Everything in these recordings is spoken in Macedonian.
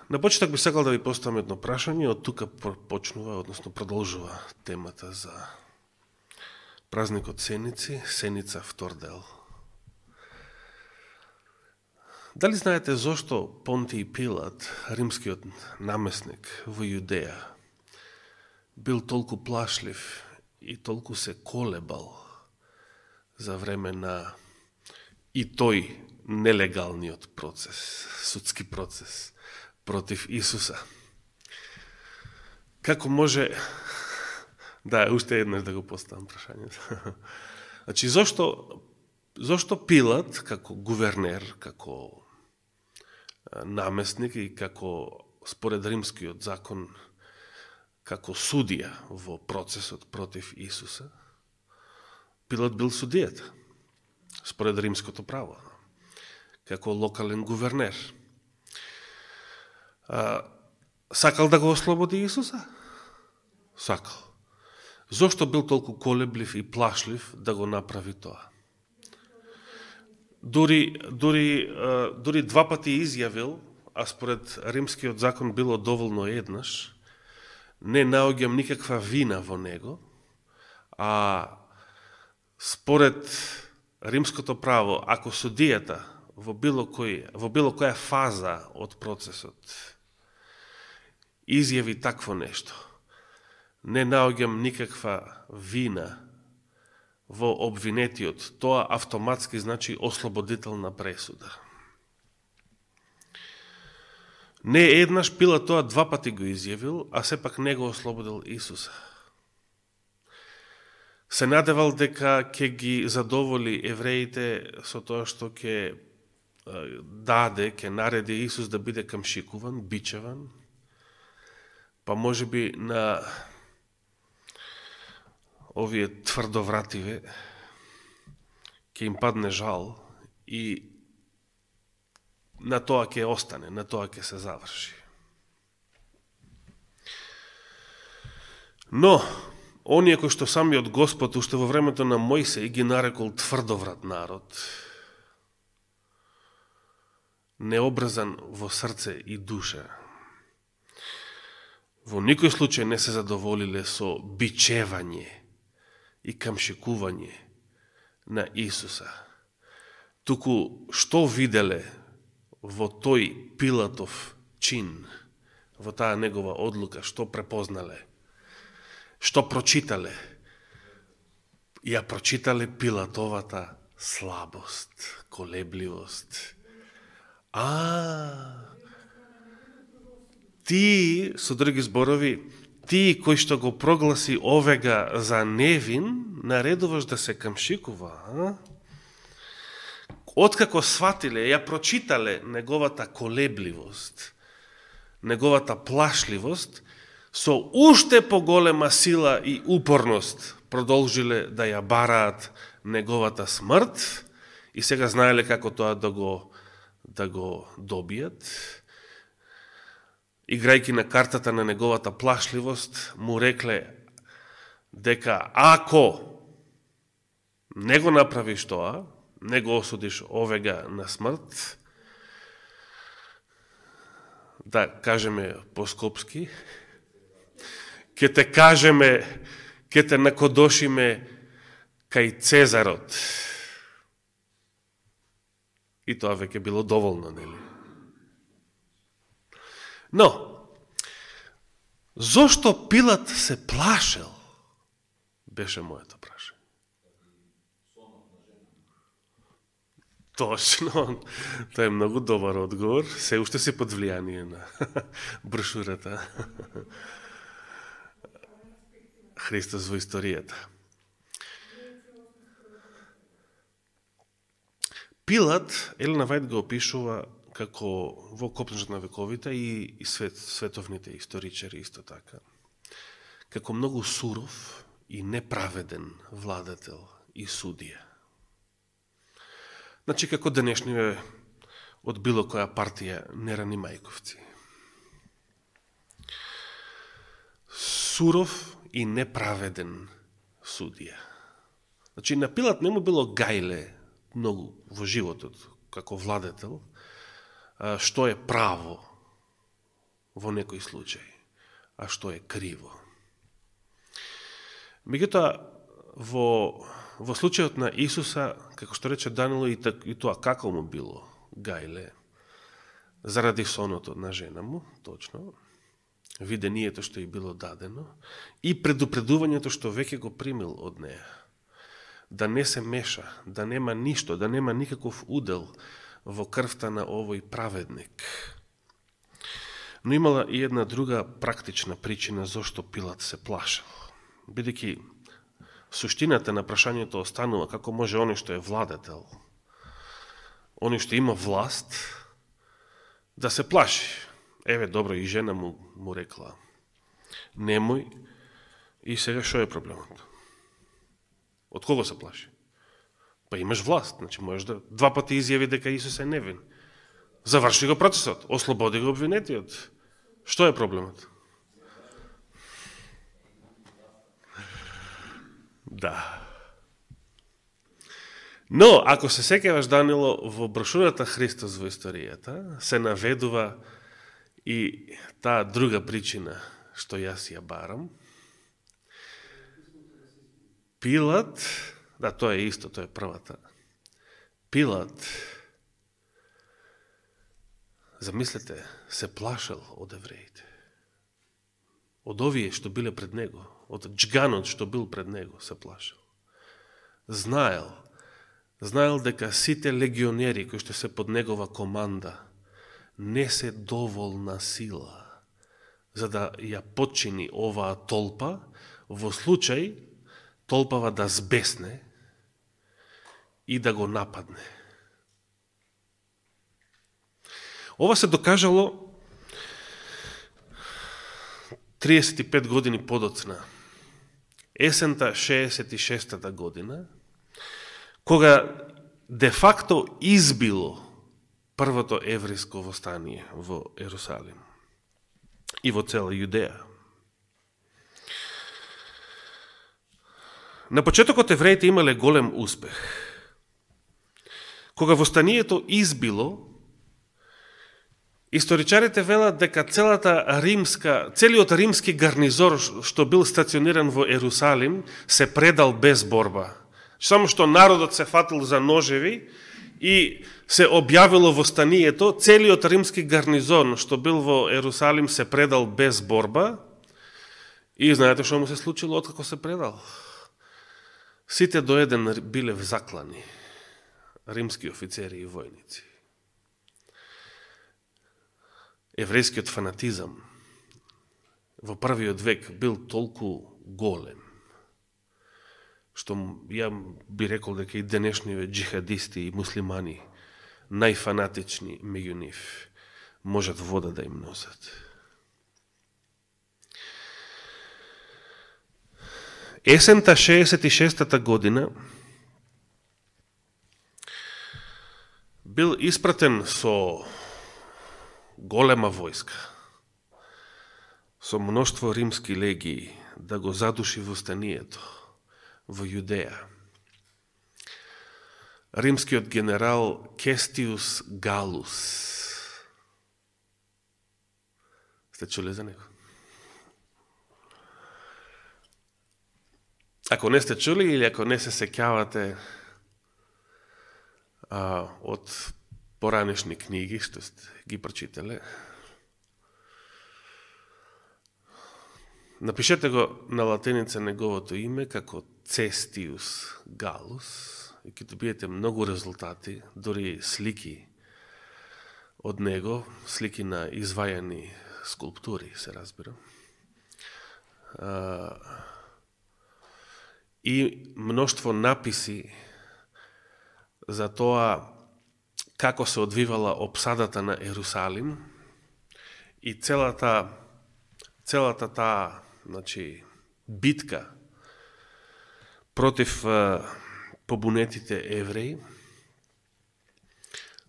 На почеток би сакал да ви поставам едно прашање, од тука почнува, односно продолжува темата за празникот Сеници, Сеница втор дел. Дали знаете зошто Понтиј Пилат, римскиот намесник во Јудеја, бил толку плашлив и толку се колебал за време на и тој нелегалниот процес, судски процес против Исуса? Како може... Да, уште еднаш да го поставам прашањето. Значи, зошто Пилат, како гувернер, како намесник и како, според римскиот закон, како судија во процесот против Исуса, Пилат бил судијата, според римското право, како локален гувернер. Сакал да го ослободи Исуса? Сакал. Зошто бил толку колеблив и плашлив да го направи тоа? Дури два пати изјавил, а според римскиот закон било доволно еднаш, не наоѓам никаква вина во него, а според римското право, ако судијата во било која фаза од процесот изјави такво нешто, не наоѓам никаква вина во обвинетиот, тоа автоматски значи ослободителна пресуда. Не еднаш Пилат тоа два пати го изјавил, а сепак не го ослободил Исуса. Се надевал дека ќе ги задоволи евреите со тоа што ќе нареди Исус да биде камшикуван, бичеван, па може би на овие тврдовративе ќе им падне жал и на тоа ќе остане, на тоа ќе се заврши. Но, оние кои што самиот Господ уште во времето на Мојсеј ги нарекол тврдоврат народ, необрзан во срце и душа, во никој случај не се задоволиле со бичевање и камшикување на Исуса. Туку што виделе во тој Пилатов чин, во таа негова одлука, што препознале, што прочитале? Ја прочитале Пилатовата слабост, колебливост. Ти, со други зборови, ти кој што го прогласи овега за невин, наредуваш да се камшикува, Откако сватиле, ја прочитале неговата колебливост, неговата плашливост, со уште поголема сила и упорност продолжиле да ја бараат неговата смрт и сега знаеле како тоа да го добијат. Играјки на картата на неговата плашливост, му рекле дека ако не го направиш тоа, не го осудиш овега на смрт, да кажеме по-скопски, ќе те кажеме, ќе те накодошиме кај Цезарот. И тоа веќе било доволно, нели? Но, зошто Пилат се плашел, беше моето прашање. Точно, тоа е многу добар одговор. Се уште си под влијание на брошурата Христос во историјата. Пилат, Елена Вајд го опишува како во Копнежот на вековите и световните историчари исто така, како многу суров и неправеден владател и судија. Значи, како денешниве од било која партија нерани мајковци. Суров и неправеден судија. Значи, на Пилат не му било гајле многу во животот, како владетел, што е право во некој случај, а што е криво. Меѓутоа, во случајот на Исуса, како што рече Данило, и тоа како му било гајле, заради соното на жена му, точно, видението што и било дадено, и предупредувањето што веќе го примил од неја, да не се меша, да нема ништо, да нема никаков удел во крвта на овој праведник. Но имала и една друга практична причина зошто Пилат се плашал. Бидејќи суштината на прашањето останува како може оној што е владетел, оној што има власт, да се плаши. Еве, добро, и жена му рекла, немој, и сега шо е проблемот? Од кого се плаши? Па имаш власт, значи можеш да два пати изјави дека Исус е невин. Заврши го процесот, ослободи го обвинетиот. Што е проблемот? Да. Но, ако се сеќаваш, Данило, во брошурата Христос во историјата, се наведува и таа друга причина што јас ја барам. Пилат, да, тоа е исто, тоа е првата. Пилат, замислете, се плашал од евреите. Од овие што биле пред него, од джганот што бил пред него, се плашал. Знаел дека сите легионери кои што се под негова команда не се доволна сила за да ја подчини оваа толпа, во случај толпава да збесне и да го нападне. Ова се докажало 35 години подоцна, есента 66-та година, кога де факто избило првото еврејско востание во Ерусалим и во цела Јудеја. На почетокот евреите имале голем успех. Кога востанието избило, историчарите велат дека целиот римски гарнизор што бил стациониран во Ерусалим се предал без борба. Само што народот се фатил за ножеви и се објавило востанието, целиот римски гарнизон што бил во Ерусалим се предал без борба и знаете што му се случило откако се предал? Сите до еден биле заклани, римски офицери и војници. Еврејскиот фанатизам во првиот век бил толку голем, што ја би рекол дека и денешниве джихадисти и муслимани, најфанатични меѓу нив, можат вода да им носат. Есента 66-та година бил испратен со голема војска, со мноштво римски легии да го задуши востанието во Јудеја. Римскиот генерал Кестиус Галус. Сте чули за него? Ако не сте чули или ако не се сеќавате од поранешни книги што сте ги прочитале, напишете го на латиница неговото име како Цестиус Галус и ќе добиете многу резултати, дури слики од него, слики на извајани скулптури, се разбира. И мноштво написи за тоа како се одвивала опсадата на Ерусалим и целата таа, значи, битка против побунетите евреи.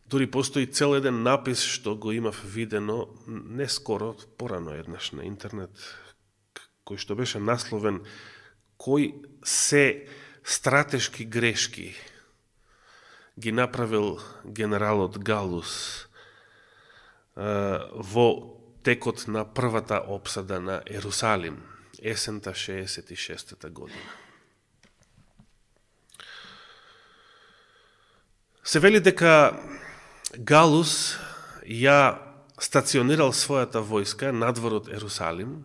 Дури постои цел еден напис што го имав видено не скоро, порано еднаш на интернет, кој што беше насловен кој се стратешки грешки ги направил генералот Галус во текот на првата опсада на Ерусалим, есента 66-та година. Се вели дека Галус ја стационирал својата војска надвор од Ерусалим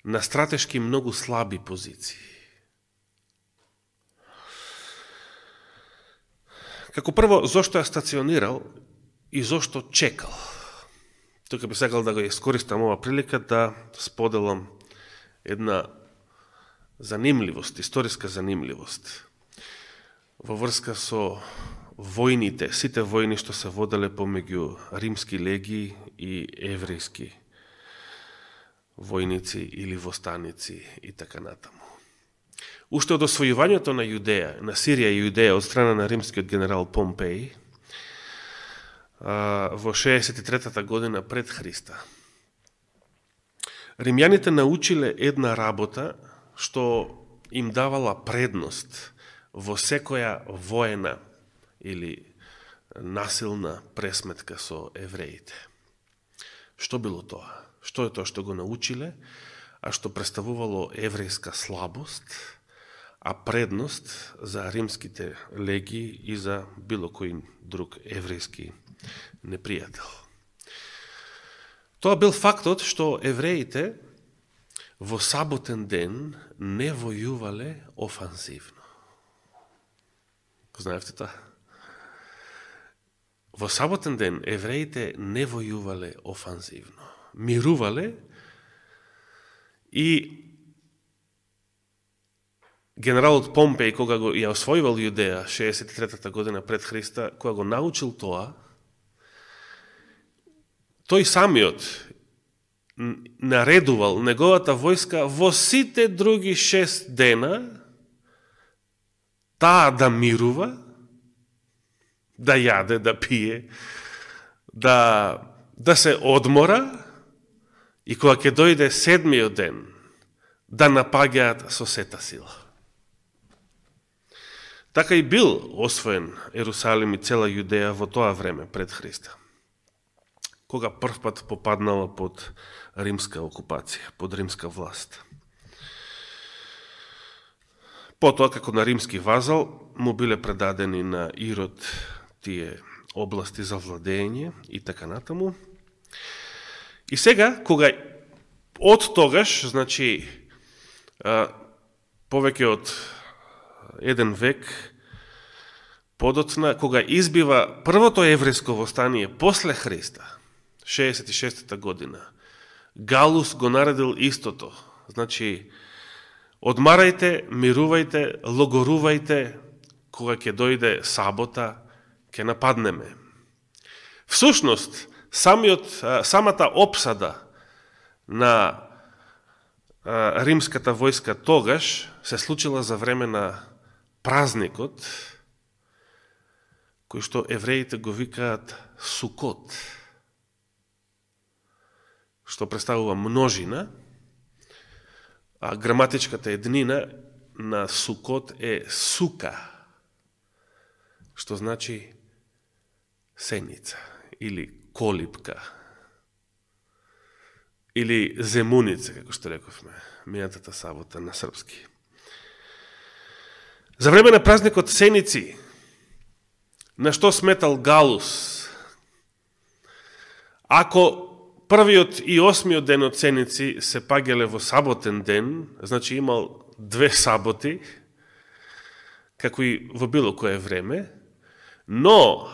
на стратешки многу слаби позиции. Како прво, зошто ја стационирал и зошто чекал? Тука би сакал да го искористам ова прилика да споделам една занимливост, историска занимливост во врска со војните, сите војни што се воделе помеѓу римски легии и еврејски војници или востаници и така натаму. Уште од освојувањето на Јудеја, на Сирија и Јудеја од страна на римскиот генерал Помпеј во 63-та година пред Христа, римјаните научиле една работа што им давала предност во секоја воена или насилна пресметка со евреите. Што било тоа? Што е тоа што го научиле, а што представувало еврејска слабост, а предност за римските легии и за било кој друг еврејски непријател? Тоа бил фактот што евреите во саботен ден не војувале офанзивно. Знаевте тоа? Во саботен ден евреите не војувале офанзивно. Мирувале и генералот Помпеј, кога го ја освојувал Јудеја 63-та година пред Христа, кога го научил тоа, тој самиот наредувал неговата војска во сите други 6 дена таа да мирува, да јаде, да пие, да се одмора, и кога ќе дојде 7-миот ден, да напаѓаат со сета сила. Така и бил освоен Ерусалим и цела Јудеја во тоа време пред Христа, кога првпат попаднала под римска окупација, под римска власт. Потоа, како на римски вазал, му биле предадени на Ирод тие области за владење и така натаму. И сега, кога од тогаш, значи, повеќе од еден век подоцна, кога избива првото еврејско востание после Христа, 66-та година, Галус го наредил истото. Значи, одмарајте, мирувајте, логорувајте, кога ќе дојде сабота, ќе нападнеме. Всушност, самата опсада на римската војска тогаш се случила за време на празникот, кој што евреите го викаат Сукот, што представува множина, а граматичката еднина на Сукот е сука, што значи сеница или колипка или земуница, како што рековме минатата сабота на српски. За време на празникот Сеници, на што сметал Галус, ако првиот и 8-миот ден од Сеници се паѓале во саботен ден, значи имал 2 саботи, како и во било кое време, но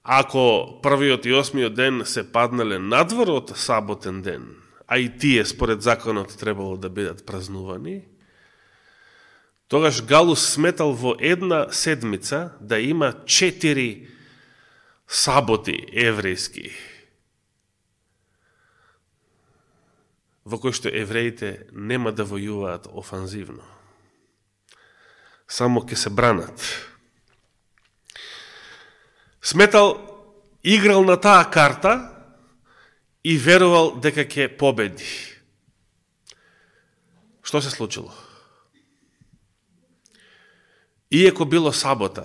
ако првиот и 8-миот ден се паднале надвор од саботен ден, а и тие според законот требало да бидат празнувани, тогаш Галус сметал во една седмица да има 4 саботи еврејски, во кој што евреите нема да војуваат офанзивно. Само ќе се бранат. Сметал, играл на таа карта и верувал дека ќе победи. Што се случило? Иако било сабота,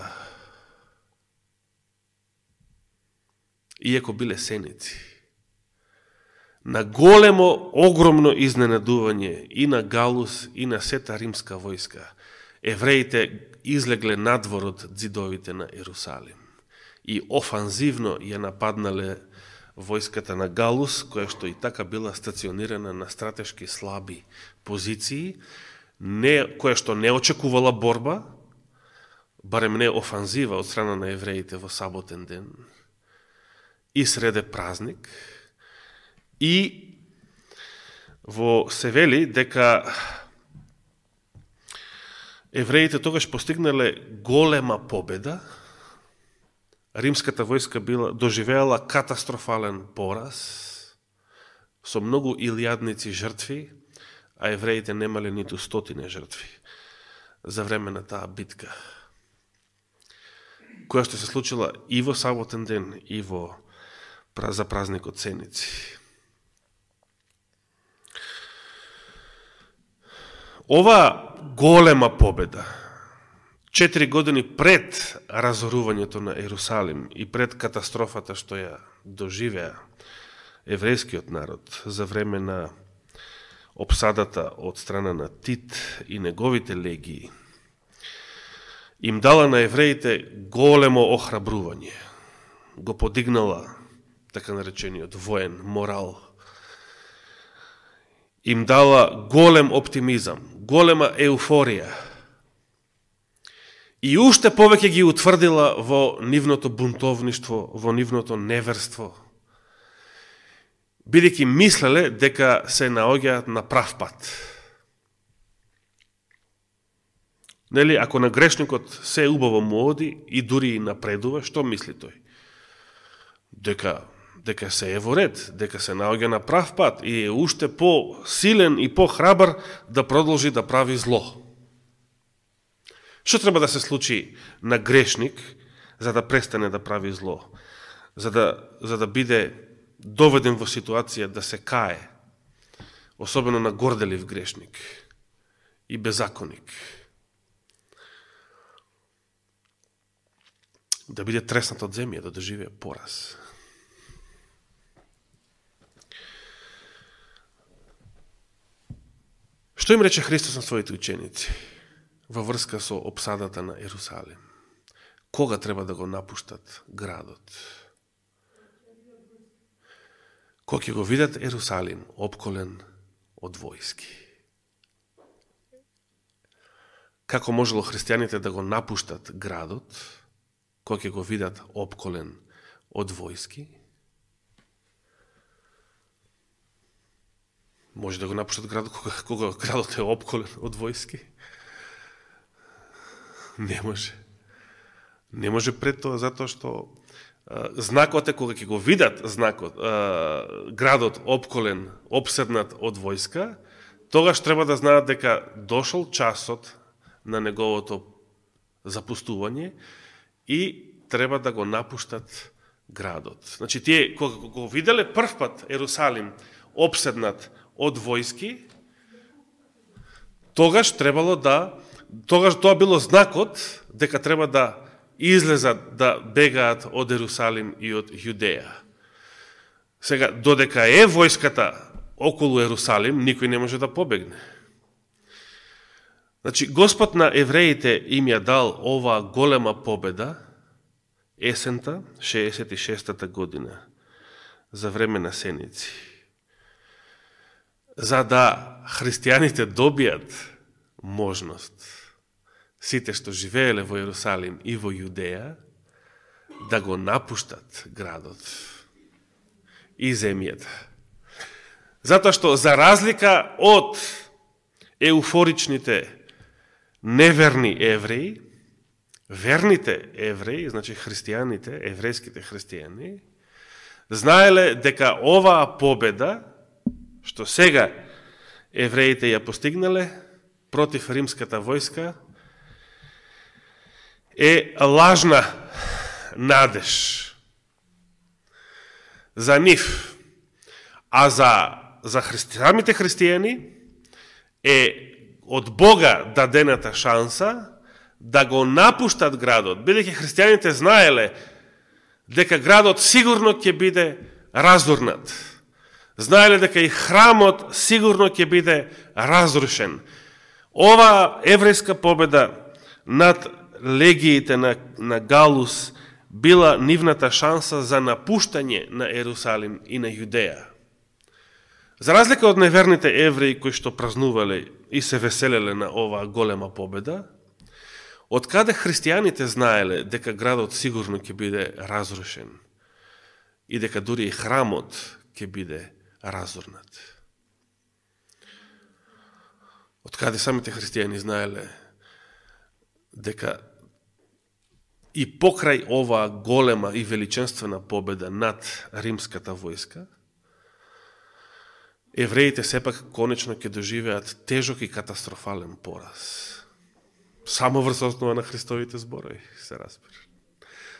иако биле сеници, на големо, огромно изненадување и на Галус и на сета римска војска, евреите излегле надвор од ѕидовите на Ерусалим и офанзивно ја нападнале војската на Галус, која што и така била стационирана на стратешки слаби позиции, која што не очекувала борба, барем не офанзива од страна на евреите во саботен ден, и среде празник, и во се вели дека евреите тогаш постигнале голема победа, римската војска доживеала катастрофален пораз, со многу илјадници жртви, а евреите немале ниту 100 жртви за време на таа битка, која што се случила и во саботен ден, и за празникот Сеници. Ова голема победа, 4 години пред разорувањето на Ерусалим и пред катастрофата што ја доживеа еврејскиот народ за време на обсадата од страна на Тит и неговите легии, им дала на евреите големо охрабрување, го подигнала така наречениот воен морал, им дала голем оптимизам, голема еуфорија и уште повеќе ги утврдила во нивното бунтовништво, во нивното неверство, бидејќи мислеле дека се наоѓаат на прав пат. Нели, ако на грешникот се убаво му оди и дури и напредува, што мисли тој? Дека се е во ред, дека се наоѓа на прав пат и е уште по-силен и по-храбар да продолжи да прави зло. Што треба да се случи на грешник за да престане да прави зло? За да биде доведен во ситуација да се кае, особено на горделив грешник и беззаконик. Да биде треснат од земја, да доживее пораз. Што им рече Христос на своите ученици во врска со обсадата на Ерусалим? Кога треба да го напуштат градот? Кога ќе го видат Ерусалим опколен од војски? Како можело христијаните да го напуштат градот кога ќе го видат опколен од војски? Може да го напуштат градот кога градот е опколен од војски? Не може. Не може пред тоа, затоа што знакот е кога ќе го видат градот опколен, обседнат од војска, тогаш треба да знаат дека дошол часот на неговото запустување и треба да го напуштат градот. Значи, тие, кога го виделе прв пат Ерусалим обседнат од војски, тогаш тоа било знакот дека треба да излезат, да бегаат од Ерусалим и од Јудеја. Сега, додека е војската околу Ерусалим, никој не може да побегне. Значи, Господ на евреите им ја дал оваа голема победа есента, 66-та година, за време на Сеници, за да христијаните добијат можност, сите што живееле во Ерусалим и во Јудеја, да го напуштат градот и земјата. Затоа што, за разлика од еуфоричните неверни евреи, верните евреи, значи христијаните, еврејските христијани, знаеле дека оваа победа, што сега евреите ја постигнале против римската војска, е лажна надеж за нив. А за самите христијани е од Бога дадената шанса да го напуштат градот, бидејќи христијаните знаеле дека градот сигурно ќе биде разорнат. Знаеле дека и храмот сигурно ќе биде разрушен. Ова еврејска победа над легиите на Галус била нивната шанса за напуштање на Ерусалим и на Јудеја. За разлика од неверните евреи кои што празнувале и се веселеле на оваа голема победа, од каде христијаните знаеле дека градот сигурно ќе биде разрушен и дека дури и храмот ќе биде разорнат. Од каде самите христијани знаеле дека и покрај оваа голема и величенствена победа над римската војска, евреите сепак конечно ќе доживеат тежок и катастрофален пораз. Само врз основа на Христовите зборови, се разбира.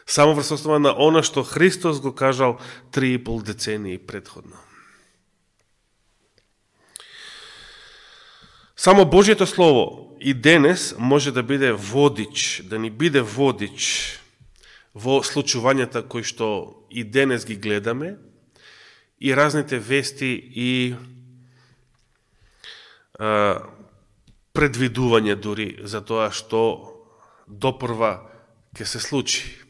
Само врз основа на она што Христос го кажал 3,5 децении предходно. Само Божјето Слово и денес може да биде водич, да ни биде водич во случувањата кои што и денес ги гледаме, и разните вести и предвидување дури за тоа што допрва ќе се случи.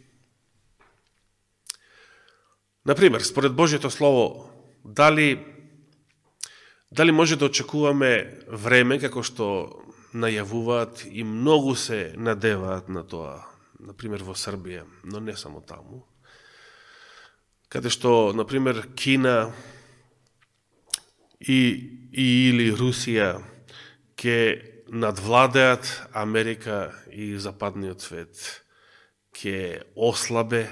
Например, според Божјето Слово, дали може да очекуваме време, како што најавуваат и многу се надеваат на тоа, например во Србија, но не само таму, каде што, например, Кина или Русија ќе надвладеат Америка и западниот свет, ќе ослабе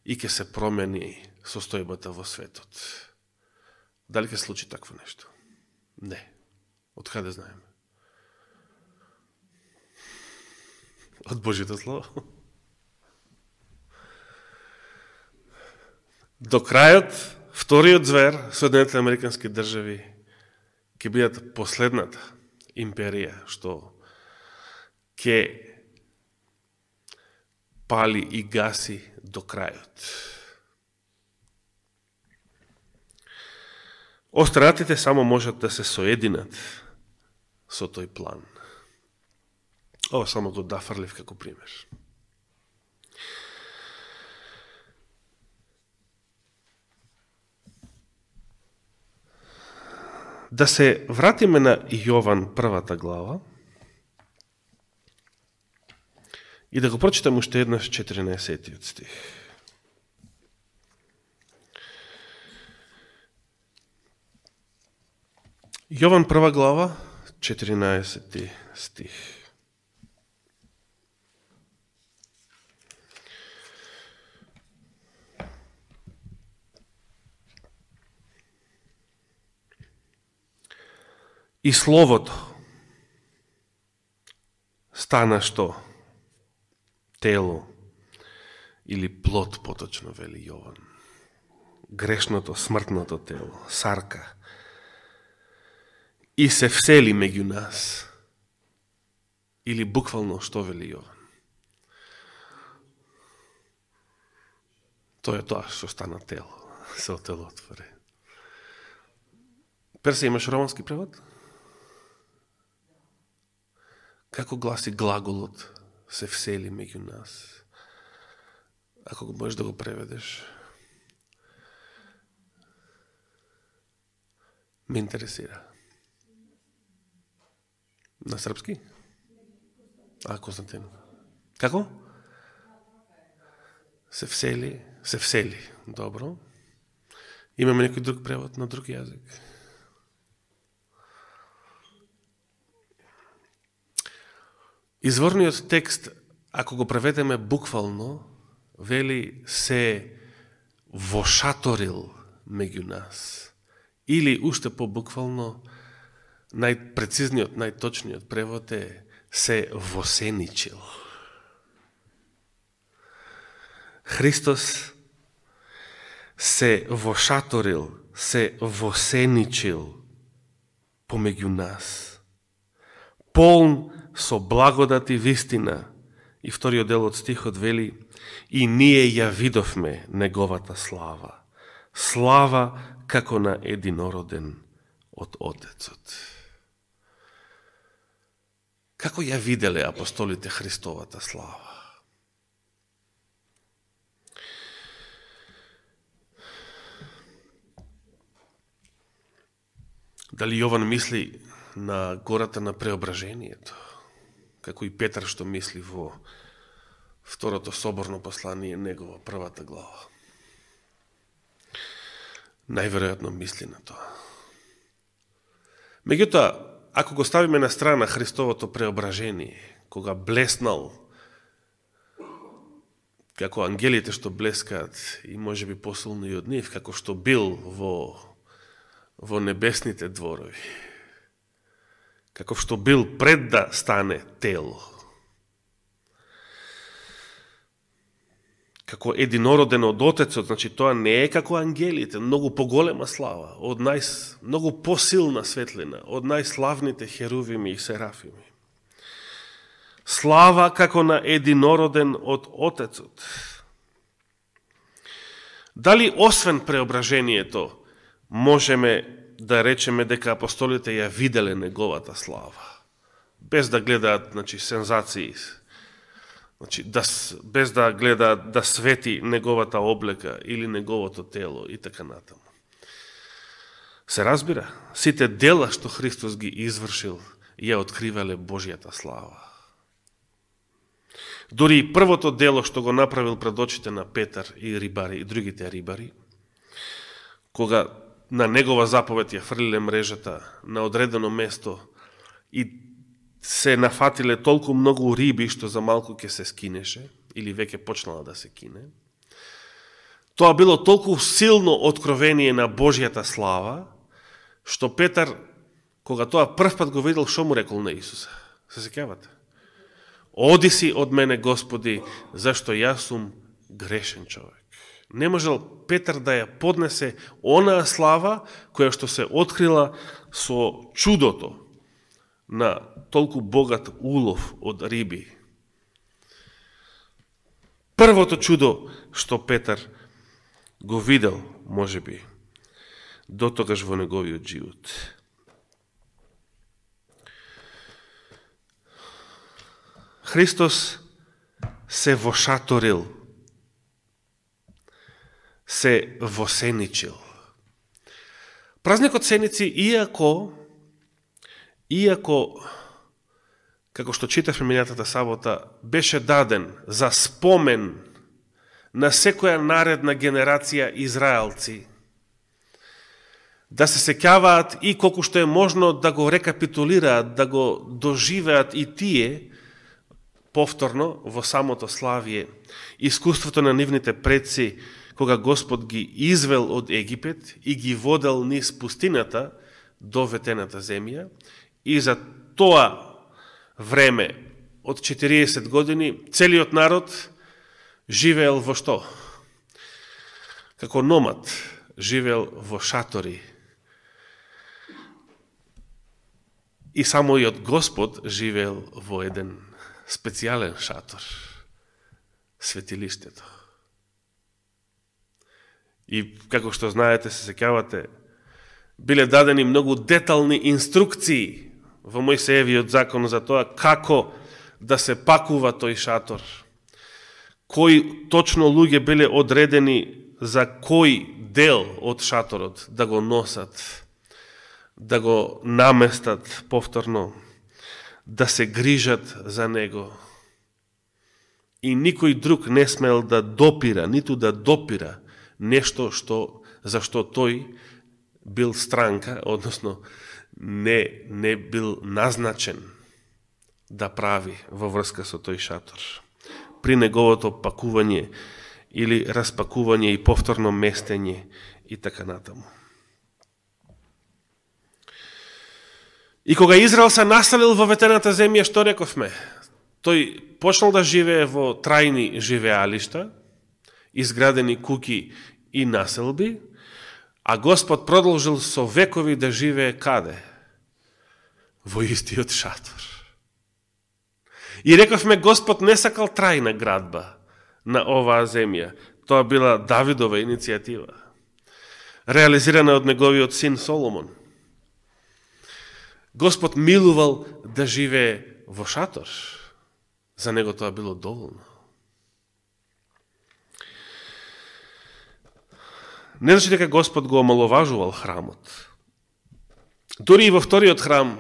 и ќе се промени состојбата во светот. Дали ќе случи такво нешто? Не. Од каде знаеме? Од Божјето Слово. До крајот, вториот звер, Соединетите американски држави, ќе бидат последната империја што ќе пали и гаси до крајот. Остранатите само можат да се соединат со тој план. Ова само го дафрлив како пример. Да се вратиме на Јован првата глава и да го прочитам уште еднаш 14 стих. Јован прва глава, 14 стих. И Словото стана што? Тело или плод, поточно вели Јован. Грешното, смртното тело, сарка. И се всели меѓу нас. Или буквално што вели Јован? Тоа е тоа што стана тело, се отелотвори. Персе, имаш романски превод? Како гласи глаголот се всели меѓу нас? Ако го можеш да го преведеш. Ме интересира. На српски? Константин. Како? Се всели. Добро. Имаме некој друг превод на друг јазик. Изворниот текст, ако го преведеме буквално, вели се вошаторил меѓу нас. Или уште по-буквално, најпрецизниот, најточниот превод е се восеничил. Христос се вошаторил, се восеничил помеѓу нас. Полн со благодат и вистина. И вториот дел од стихот вели: и ние ја видовме неговата слава. Слава како на единороден од Отецот. Како ја виделе апостолите Христовата слава? Дали Јован мисли на гората на преображението, како и Петар што мисли во второто соборно послание, негова првата глава? Најверојатно мисли на тоа. Меѓутоа, ако го ставиме на страна Христовото преображение, кога блеснал како ангелите што блескаат и може би посилно и од нив, како што бил во небесните дворови, како што бил пред да стане тело, како единороден од Отецот, значи тоа не е како ангелите, многу поголема слава, многу посилна светлина, од најславните херувими и серафими. Слава како на единороден од Отецот. Дали освен преображението можеме да речеме дека апостолите ја виделе неговата слава, без да гледаат, значи, сензации, значи, без да гледаат да свети неговата облека или неговото тело и така натаму. Се разбира, сите дела што Христос ги извршил ја откривале Божјата слава. Дори и првото дело што го направил пред очите на Петар и рибари и другите рибари, кога на негова заповед ја фрлиле мрежата на одредено место и се нафатиле толку многу риби што за малку ќе се скинеше, или веќе почнала да се кине. Тоа било толку силно откровение на Божјата слава, што Петар, кога тоа прв пат го видел, што му рекол на Исуса? Се сеќавате? Оди си од мене, Господи, зашто јас сум грешен човек. Не можел Петар да ја поднесе онаа слава која што се открила со чудото на толку богат улов од риби. Првото чудо што Петар го видел, можеби, дотогаш во неговиот живот. Христос се вошаторил, се восеничил. Празникот Сеници, иако како што читавме минатата сабота, беше даден за спомен на секоја наредна генерација израелци, да се сеќаваат и колку што е можно да го рекапитулираат, да го доживеат и тие, повторно во самото славие, искуството на нивните предци, кога Господ ги извел од Египет и ги водел низ пустината до ветената земја, и за тоа време од 40 години целиот народ живеел во што? Како номад, живеел во шатори. И самојот Господ живеел во еден специјален шатор, светилиштето. И како што знаете, се сеќавате, биле дадени многу детални инструкции во Мојсеевиот закон за тоа како да се пакува тој шатор, кои точно луѓе биле одредени за кој дел од шаторот да го носат, да го наместат повторно, да се грижат за него. И никој друг не смел да допира, ниту да допира нешто за што тој бил странка, односно не бил назначен да прави во врска со тој шатор. При неговото пакување или распакување и повторно местење и така натаму. И кога Израел се населил во ветената земја, што рековме? Тој почнал да живее во трајни живеалишта, изградени куќи и населби, а Господ продолжил со векови да живее каде? Во истиот шатор. И рековме, Господ не сакал трајна градба на оваа земја. Тоа била Давидова иницијатива. реализирана од неговиот син Соломон. Господ милувал да живее во шатор. За него тоа било доволно. Не значи дека Господ го омаловажувал храмот. Дури и во вториот храм,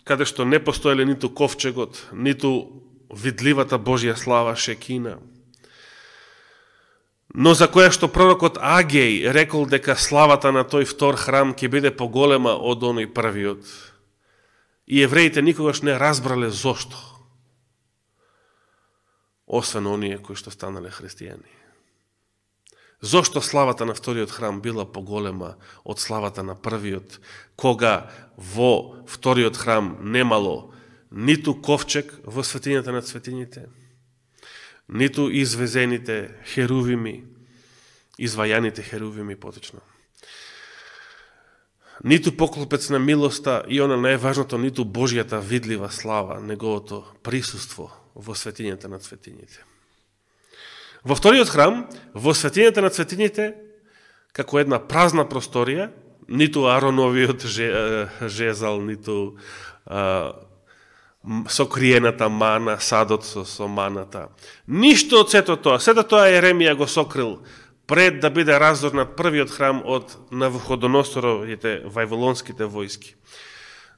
каде што не постоеле ниту ковчегот, ниту видливата Божја слава Шекина, но за која што пророкот Агеј рекол дека славата на тој втор храм ќе биде поголема од оној првиот. И евреите никогаш не разбрале зошто, освен оние кои што станале христијани. Зошто славата на вториот храм била поголема од славата на првиот, кога во вториот храм немало ниту ковчег во светињата на светињите, ниту извезените херувими, извајаните херувими поточно, ниту поклопец на милоста и она најважното, ниту Божјата видлива слава, неговото присуство во светињата на светињите. Во вториот храм, во светињата на светињите, како една празна просторија, ниту Ароновиот жезал, ниту сокриената мана, садот со маната. Ништо од сето тоа. Сето тоа Еремија го сокрил пред да биде разорнат првиот храм од Навуходоносоровите вавилонските војски.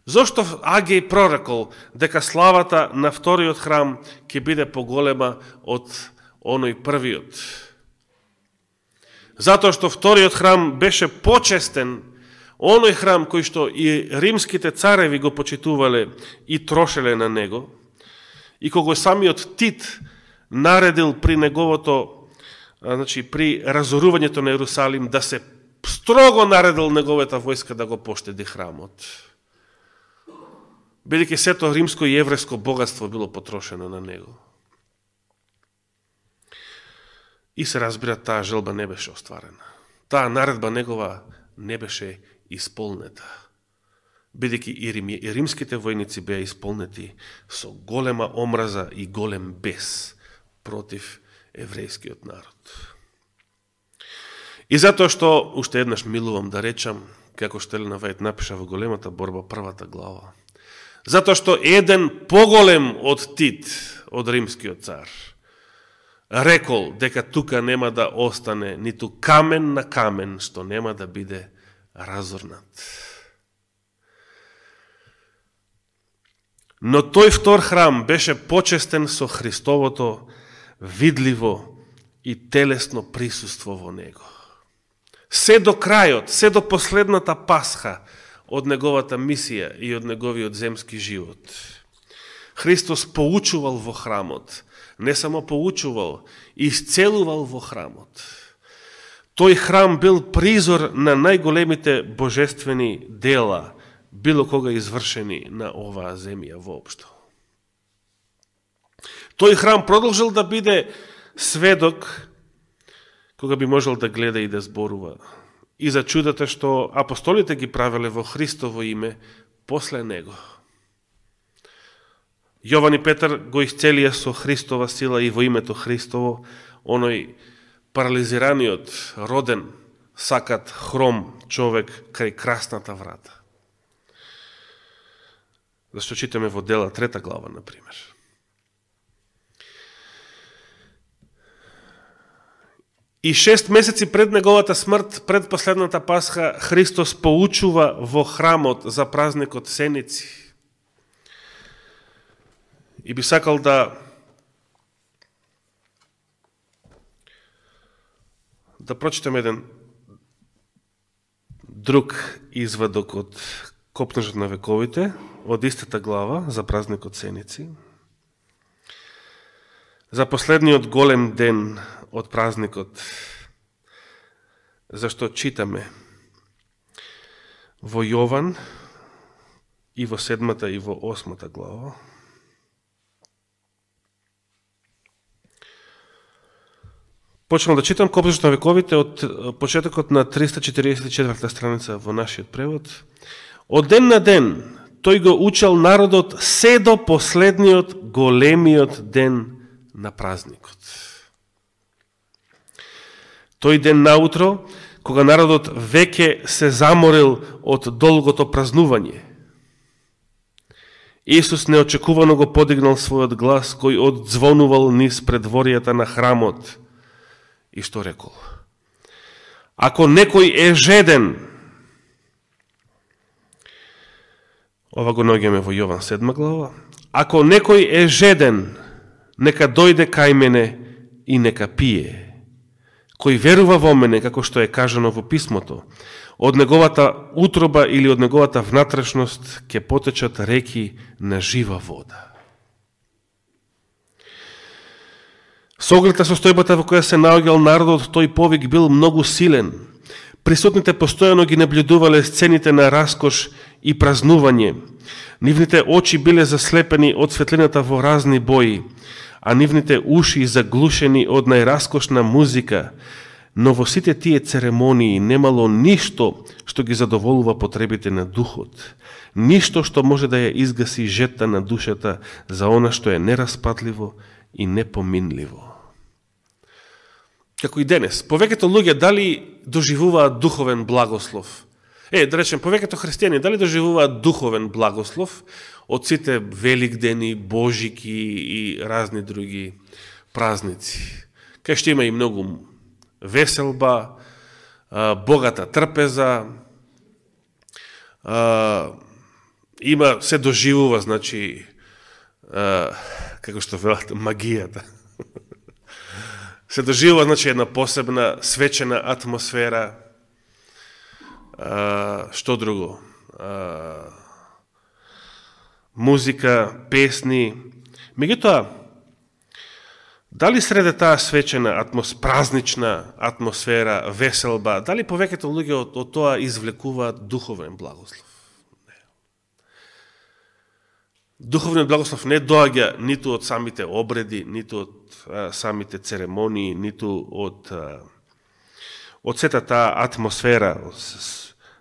Зошто Агеј прорекол дека славата на вториот храм ќе биде поголема од оној првиот? Затоа што вториот храм беше почестен, оној храм кој што и римските цареви го почитувале и трошеле на него, и кога самиот Тит наредил при неговото, при разорувањето на Ерусалим, да се строго наредил неговата војска да го поштеди храмот, бидејќи сето римско и евреско богатство било потрошено на него. И се разбира, таа желба не беше остварена. Таа наредба негова не беше исполнета, бидејќи и римските војници беа исполнети со голема омраза и голем бес против еврејскиот народ. И затоа што, уште еднаш милувам да речам, како што Елена Вајд напиша во големата борба, првата глава, затоа што еден поголем од Тит, од римскиот цар, рекол дека тука нема да остане ниту камен на камен што нема да биде разорнат. Но тој втор храм беше почестен со Христовото видливо и телесно присуство во него. Се до крајот, се до последната Пасха од неговата мисија и од неговиот земски живот. Христос поучувал во храмот, не само поучувал, исцелувал во храмот. Тој храм бил призор на најголемите божествени дела, било кога извршени на оваа земја воопшто. Тој храм продолжил да биде сведок, кога би можел да гледа и да зборува, и за чудата што апостолите ги правеле во Христово име после него. Јован и Петар го исцелија со Христова сила и во името Христово, оној парализираниот, роден, сакат хром човек кај красната врата. Зашто читаме во Дела 3 глава, например. И 6 месеци пред неговата смрт, пред последната Пасха, Христос поучува во храмот за празникот Сеници. И би сакал да прочитам еден друг извадок од Копнежот на вековите, од истата глава за празникот Сеници. За последниот голем ден од празникот, зашто читаме во Јован и во 7 и во 8 глава. Почнам да читам Копнежот на вековите од почетокот на 344 страница во нашиот превод. Од ден на ден тој го учел народот се до последниот големиот ден на празникот. Тој ден наутро, кога народот веќе се заморил од долгото празнување. Исус неочекувано го подигнал својот глас, кој одзвонувал низ предворијата на храмот, и што рекол: ако некој е жеден, ова го наоѓаме во Јован 7 глава, ако некој е жеден, нека дојде кај мене и нека пие. Кој верува во мене, како што е кажано во писмото, од неговата утроба или од неговата внатрешност ќе потечат реки на жива вода. Со оглед на состојбата во која се наоѓал народот, тој повик бил многу силен. Присутните постојано ги наблюдувале сцените на раскош и празнување. Нивните очи биле заслепени од светлината во разни бои, а нивните уши заглушени од најраскошна музика, но во сите тие церемонии немало ништо што ги задоволува потребите на духот, ништо што може да ја изгаси жетта на душата за она што е нераспатливо и непоминливо. Како и денес, повеќето луѓе дали доживуваат духовен благослов? Да речем, повеќето христијани дали доживуваат духовен благослов од сите великдени, божики и разни други празници, кај што има и многу веселба, богата трпеза, има, се доживува, значи, како што велат, магијата. Се доживува, значи, една посебна свечена атмосфера. Што друго? Музика, песни. Меѓутоа, дали среде таа свечена, празнична атмосфера, веселба, дали повеќето луѓе од тоа извлекуваат духовен благослов? Не. Духовниот благослов не доаѓа ниту од самите обреди, ниту од самите церемонии, ниту од сета таа атмосфера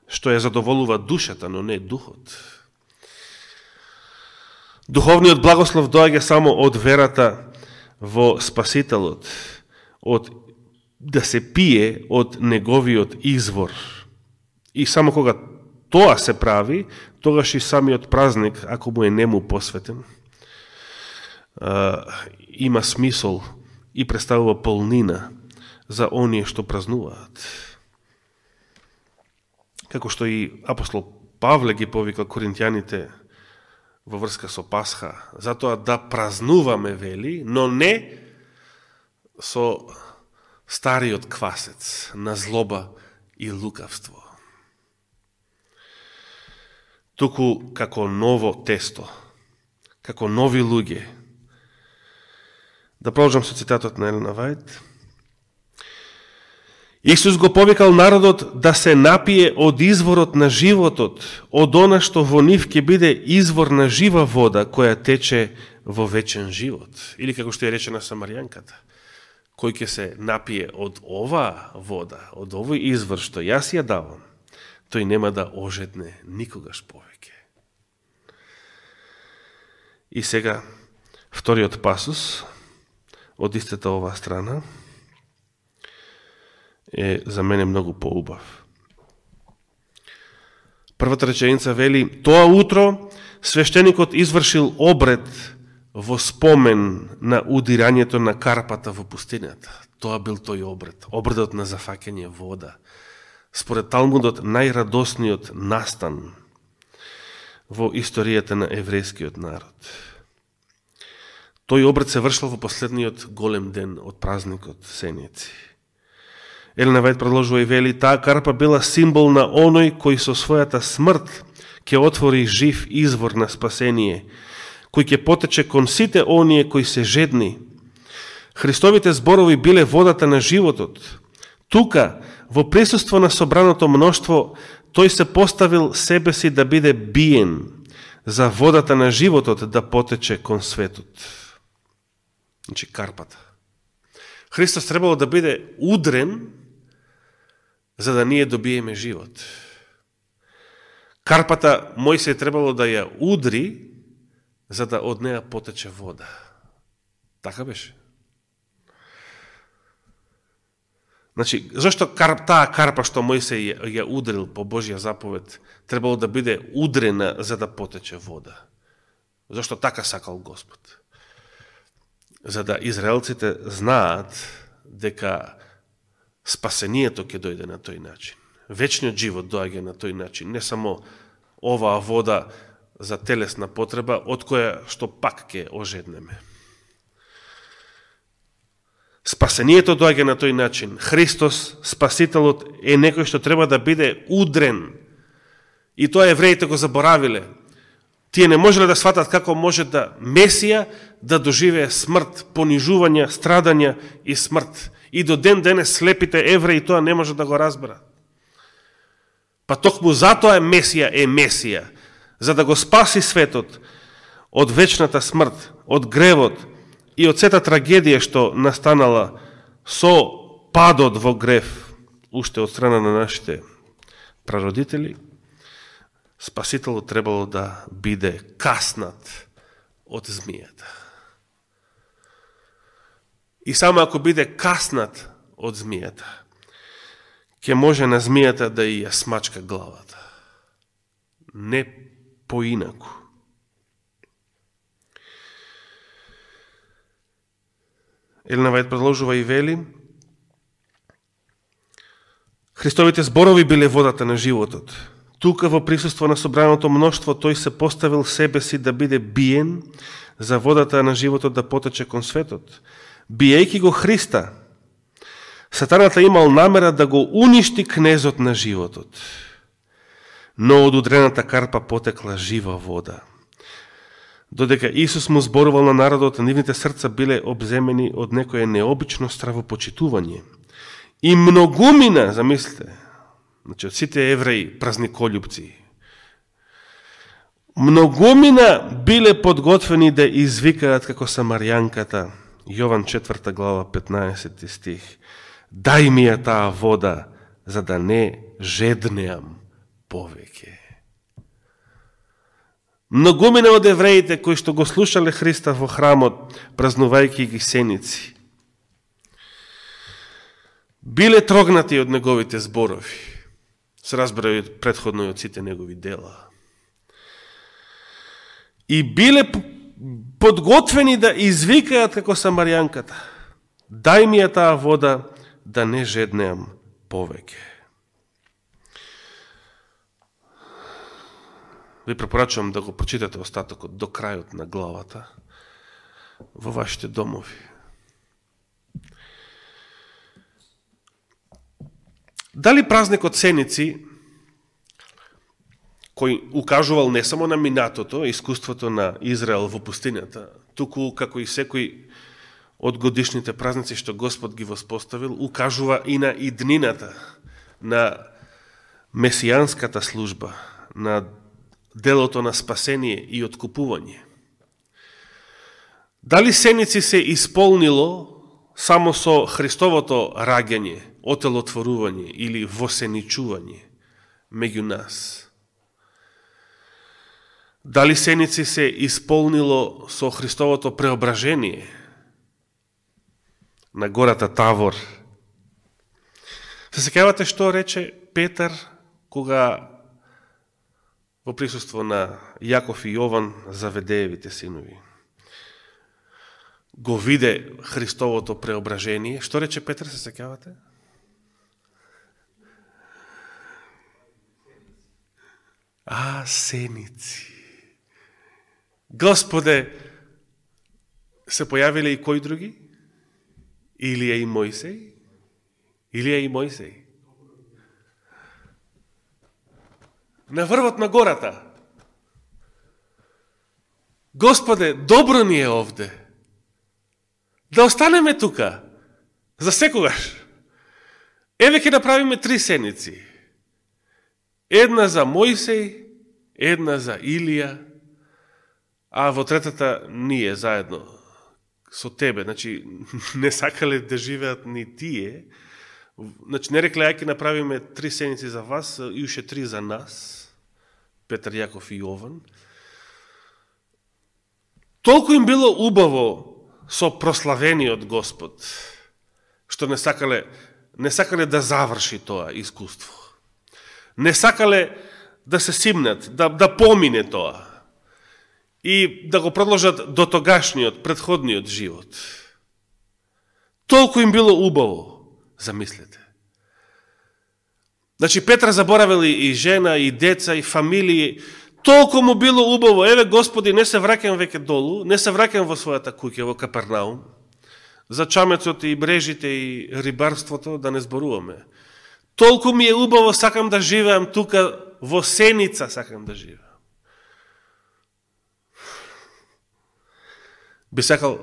што ја задоволува душата, но не духот. Духовниот благослов доаѓа само од верата во Спасителот, од да се пие од неговиот извор. И само кога тоа се прави, тогаш и самиот празник, ако му е нему посветен, има смисол и представува полнина за оние што празнуваат. Како што и апостол Павле ги повика коринтијаните во врска со Пасха, затоа да празнуваме, вели, но не со стариот квасец на злоба и лукавство. Туку како ново тесто, како нови луѓе. Да продолжам со цитатот на Елена Вајд. Исус го повикал народот да се напие од изворот на животот, од она што во нив ќе биде извор на жива вода, која тече во вечен живот. Или како што е речена Самаријанката, кој ќе се напие од ова вода, од овој извор што јас ја давам, тој нема да ожедне никогаш повеќе. И сега, вториот пасус од истата ова страна е за мене многу поубав. Првата реченица вели: тоа утро свештеникот извршил обред во спомен на удирањето на карпата во пустината. Тоа бил тој обред, обредот на зафаќање вода. Според Талмудот, најрадосниот настан во историјата на еврејскиот народ. Тој обред се вршил во последниот голем ден од празникот Сеници. Елена Вајд продолжува и вели: таа карпа била символ на оној кој со својата смрт ќе отвори жив извор на спасение, кој ќе потече кон сите оние кои се жедни. Христовите зборови биле водата на животот. Тука, во присуство на собраното мноштво, тој се поставил себе си да биде биен за водата на животот да потече кон светот. Значи карпата. Христос требало да биде удрен за да ние добиеме живот. Карпата Мојсей требало да ја удри за да од неја потече вода. Така беше. Значи, зашто таа карпа што Мојсей ја удрил по Божја заповед, требало да биде удрена за да потече вода? Зашто така сакал Господ? За да израелците знаат дека спасението ќе дојде на тој начин. Вечниот живот доаѓа на тој начин. Не само оваа вода за телесна потреба, од која што пак ќе ожеднеме. Спасението доаѓа на тој начин. Христос, Спасителот, е некој што треба да биде удрен. И тоа евреите го заборавиле. Тие не можеле да сватат како може да Месија да доживее смрт, понижување, страдања и смрт. И до ден денес слепите евреи тоа не може да го разберат. Па токму затоа е Месија, за да го спаси светот од вечната смрт, од гревот и од сета трагедија што настанала со падот во грев, уште од страна на нашите прародители. Спасителот требало да биде каснат од змијата. И само ако биде каснат од змијата, ќе може на змијата да ја смачка главата. Не поинаку. Елена Вајд продолжува и вели: Христовите зборови биле водата на животот. Тука во присуство на собраното мноштво тој се поставил себе си да биде биен за водата на животот да потече кон светот. Биејќи го Христа, Сатаната имал намера да го уништи кнезот на животот. Но од удрената карпа потекла жива вода. Додека Исус му зборувал на народот, нивните срца биле обземени од некое необично стравопочитување. И многумина, замислите, значи од сите евреи празниколюбци, многумина биле подготвени да извикаат како самарјанката, Јован 4 глава 15 стих: Дај ми ја таа вода, за да не жеднеам повеќе. Многумина од евреите кои што го слушале Христа во храмот, празнувајќи ги сеници, биле трогнати од неговите зборови. Се разбира и предходно и од сите негови дела. И биле подготвени да извикаат како самарјанката: Дај ми ја таа вода, да не жеднеам повеќе. Ви препорачувам да го прочитате остатокот до крајот на главата во вашите домови. Дали празникот Сеници, кој укажувал не само на минатото, искуството на Израел во пустината, туку како и секој од годишните празници што Господ ги воспоставил, укажува и на иднината, на месијанската служба, на делото на спасение и откупување. Дали Сеници се исполнило само со Христовото раѓање, отелотворување или восеничување меѓу нас? Дали Сеници се исполнило со Христовото преображение на гората Тавор? Се сеќавате што рече Петар кога во присуство на Јаков и Јован, Заведеевите синови, го виде Христовото преображение? Што рече Петар, се сеќавате? Сеници. Господе, се појавиле и кои други? Илија и Мојсей? Илија и Мојсей. На врвот на гората. Господе, добро ни е овде. Да останеме тука. За секогаш. Еве ќе направиме 3 сеници. Една за Мојсей, една за Илија, а во третата ние заедно со тебе. Значи, не сакале да живеат ни тие. Значи, не рекле, ќе направиме 3 сеници за вас и уште 3 за нас. Петар, Јаков и Јован. Толку им било убаво со прославениот Господ, што не сакале не сакале да заврши тоа искуство. Не сакале да се симнат, да помине тоа и да го продолжат до тогашниот, предходниот живот. Толку им било убаво, замислете. Значи, Петра заборавил и жена, и деца, и фамилии. Толку му било убаво. Еве, Господи, не се враќам веќе долу, не се враќам во својата куќа, во Капернаум. За чамецот и брежите и рибарството да не зборуваме. Толку ми е убаво, сакам да живеам тука, во сеница сакам да живеам. Би сакал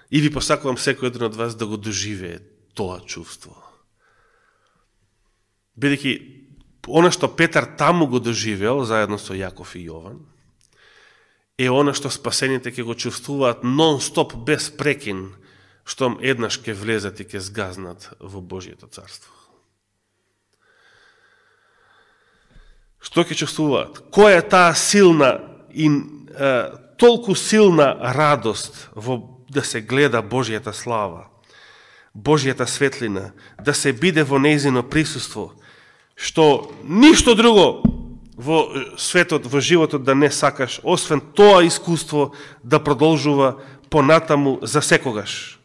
и ви посакувам секој еден од вас да го доживее тоа чувство. Бидејќи она што Петар таму го доживеал, заедно со Јаков и Јован, е она што спасените ќе го чувствуваат нон-стоп, без прекин, штом еднаш ќе влезат и ќе сгазнат во Божието царство. Што ќе чувствуваат? Која е таа силна и толку силна радост во да се гледа Божијата слава, Божијата светлина, да се биде во нејзино присуство, што ништо друго во светот, во животот да не сакаш, освен тоа искуство да продолжува понатаму за секогаш.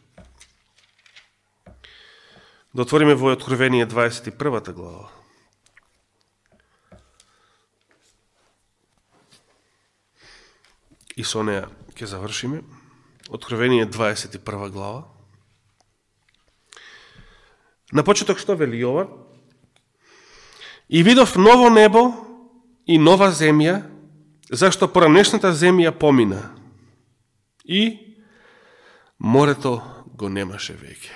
Да отвориме во Откровение 21 глава. И со неја ќе завршиме. Откровение 21 глава. На почеток што вели Јован? И видов ново небо и нова земја, зашто поранешната земја помина. И морето го немаше веќе.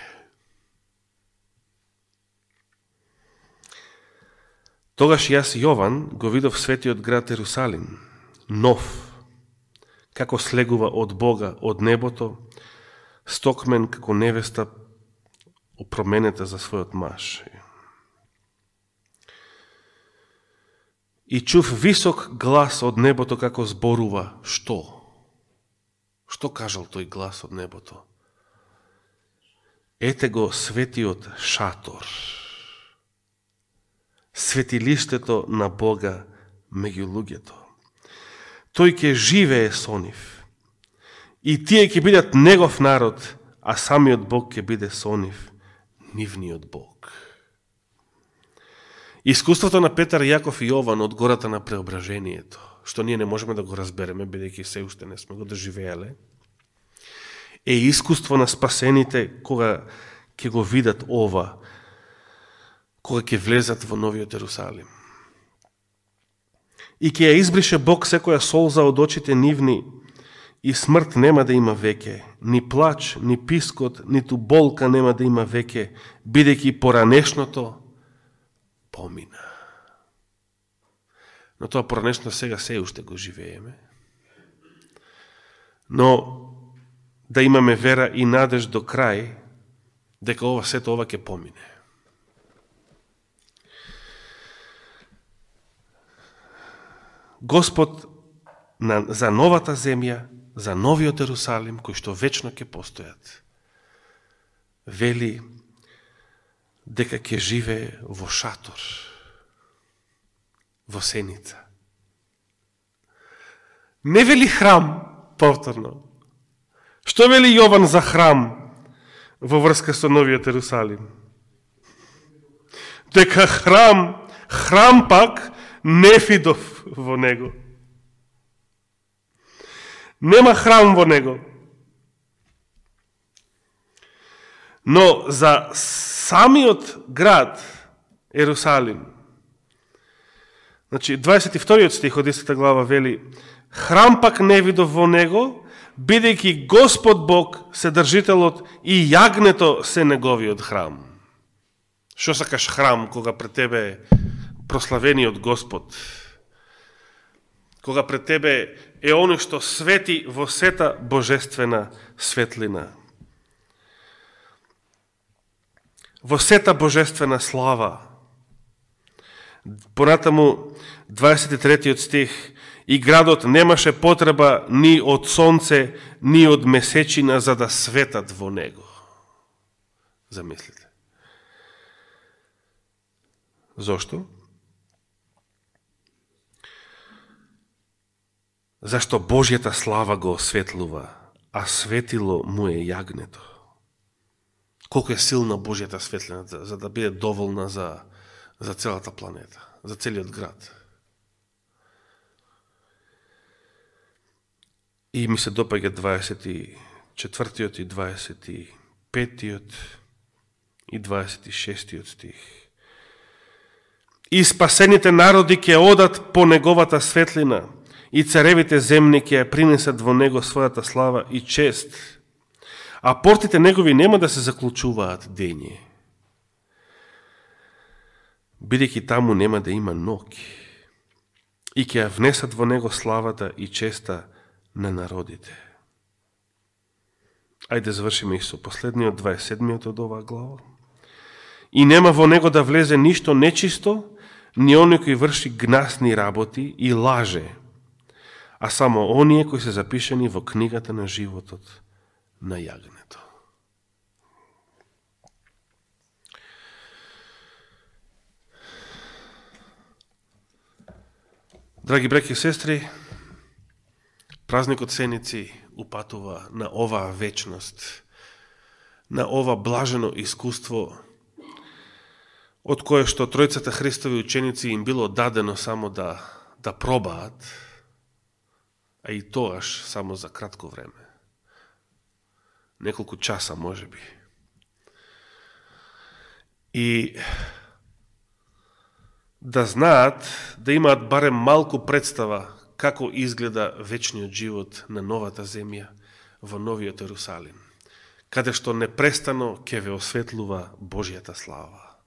Тогаш јас, Јован, го видов светиот град Ерусалим, нов, како слегува од Бога, од небото, стокмен како невеста опроменета за својот маж. И чув висок глас од небото како зборува. Што? Што кажал тој глас од небото? Ете го светиот шатор, светилиштето на Бога меѓу луѓето. Тој ќе живее со нив. И тие ќе бидат негов народ, а самиот Бог ќе биде со нив, нивниот Бог. Искуството на Петар, Јаков и Јован од гората на преображението, што ние не можеме да го разбереме, бидејќи се уште не сме го доживеале, е искуство на спасените кога ќе го видат ова, кога ќе влезат во новиот Ерусалим. И ќе ја избрише Бог секоја солза од очите нивни, и смрт нема да има веќе, ни плач, ни пискот, ниту болка нема да има веќе, бидејќи поранешното помина. Но тоа поранешно сега се уште го живееме. Но да имаме вера и надеж до крај, дека ова сето ова ќе помине. Господ за новата земја, за новиот Ерусалим, кој што вечно ќе постојат, вели дека ќе живее во шатор, во сеница. Не вели храм, повторно. Што вели Јован за храм во врска со новиот Ерусалим? Дека храм пак не видов во него. Нема храм во него. Но за самиот град Ерусалим, значи 22 стих од 10 глава вели: храм пак не видов во него, бидејќи Господ Бог, Седржителот и јагнето се неговиот храм. Што сакаш храм кога пред тебе е прославениот Господ? Кога пред тебе е оној што свети во сета божествена светлина, во сета божествена слава. Понатаму 23 стих: и градот немаше потреба ни од сонце, ни од месечина за да светат во него. Замислите. Зошто? Зашто Божјата слава го осветлува, а светило му е јагнето. Колко е силна Божјата светлина, за да биде доволна за целата планета, за целиот град. И ми се допаѓа 24-тиот и 25-тиот и 26-тиот стих. И спасените народи ќе одат по неговата светлина, и царевите земни ќе ја принесат во него својата слава и чест, а портите негови нема да се заклучуваат дење, бидејќи таму нема да има ноќ, и ќе ја внесат во него славата и честа на народите. Ајде завршиме и со последниот 27-миот од оваа глава. И нема во него да влезе ништо нечисто, ни оној кој врши гнасни работи и лаже, а само оние кои се запишани во книгата на животот на јагнето. Драги браќи и сестри, празникот Сеници упатува на оваа вечност, на ова блажено искуство, од кое што тројцата Христови ученици им било дадено само да пробаат, а и тоаш само за кратко време. Неколку часа, можеби. И да знаат, да имаат барем малку представа како изгледа вечниот живот на новата земја во новиот Ерусалим, каде што непрестано ќе ве осветлува Божјата слава.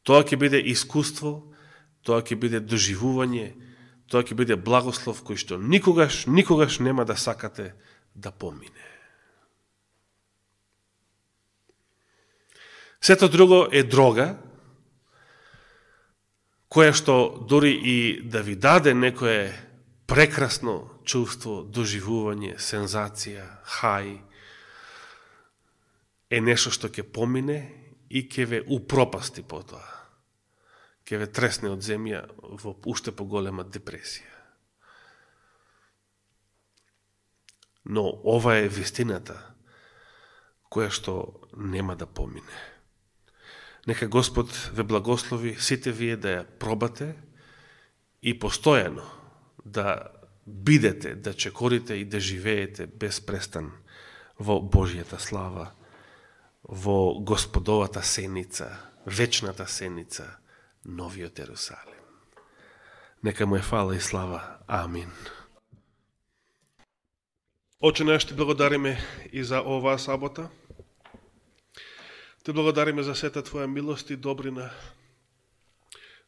Тоа ќе биде искуство, тоа ќе биде доживување, тоа ќе биде благослов кој што никогаш нема да сакате да помине. Сето друго е дрога, која што дори и да ви даде некое прекрасно чувство, доживување, сензација, хај, е нешто што ќе помине и ќе ве упропасти потоа. Ќе ве тресне од земја во уште поголема депресија. Но ова е вистината која што нема да помине. Нека Господ ве благослови сите вие да ја пробате и постојано да бидете, да чекорите и да живеете без престан во Божјата слава, во Господовата сеница, вечната сеница, новиот Ерусалим. Нека му е фала и слава. Амин. Оче наш, ти благодариме и за оваа сабота. Ти благодариме за сета Твоја милост и добрина,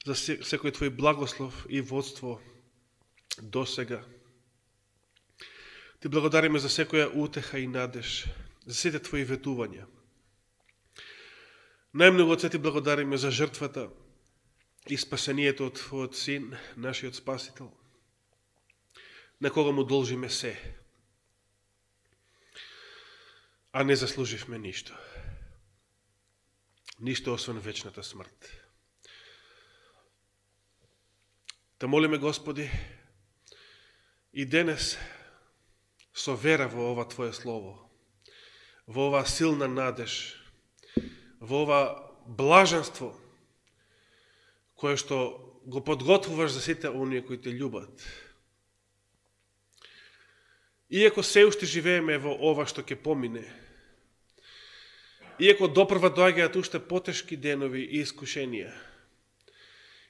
за секој Твој благослов и водство до сега. Ти благодариме за секоја утеха и надеж, за сите Твои ветувања. Најмногу од се Ти благодариме за жртвата и спасението од Твојот Син, нашиот Спасител, на кога му должиме се, а не заслуживме ништо. Ништо освен вечната смрт. Те молиме, Господи, и денес со вера во ова Твое Слово, во ова силна надеж, во ова блаженство, кое што го подготвуваш за сите оние кои те љубат. Иако се уште живееме во ова што ќе помине, иако допрва доаѓаат уште потешки денови и искушенија,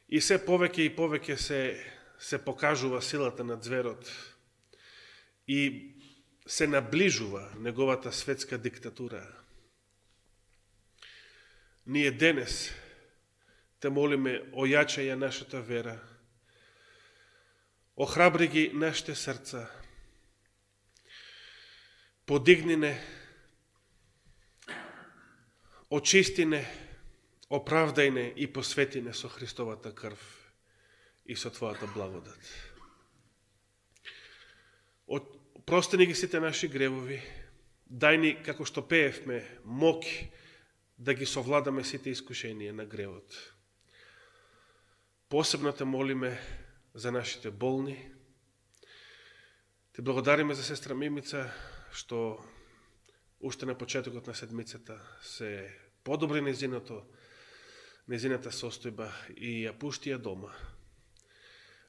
и се повеќе и повеќе се покажува силата на зверот и се наближува неговата светска диктатура, ние денес те молиме, ојачај ја нашата вера, охрабри ги нашите срца, подигни не, очисти не, оправдај не и посвети не со Христовата крв и со Твојата благодат. Прости ни ги сите наши гревови, дај ни, како што пеевме, моќ да ги совладаме сите искушенија на гревот. Посебно те молиме за нашите болни. Ти благодариме за сестра Мимица, што уште на почетокот на седмицата се подобри незината состојба и ја пушти ја дома.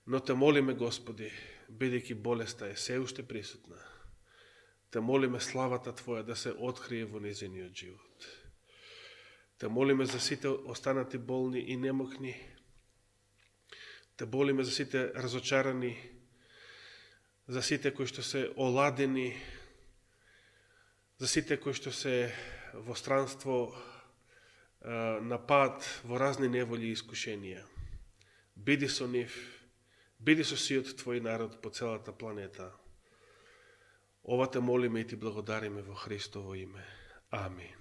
Но те молиме, Господи, бидејќи болеста е се уште присутна, те молиме славата Твоја да се открие во незиниот живот. Те молиме за сите останати болни и немокни. Те молиме за сите разочарани, за сите кои што се оладени, за сите кои што се во странство на пат, во разни неволи и искушенија. Биди со нив, биди со сиот Твој народ по целата планета. Ова те молиме и ти благодариме во Христово име. Амин.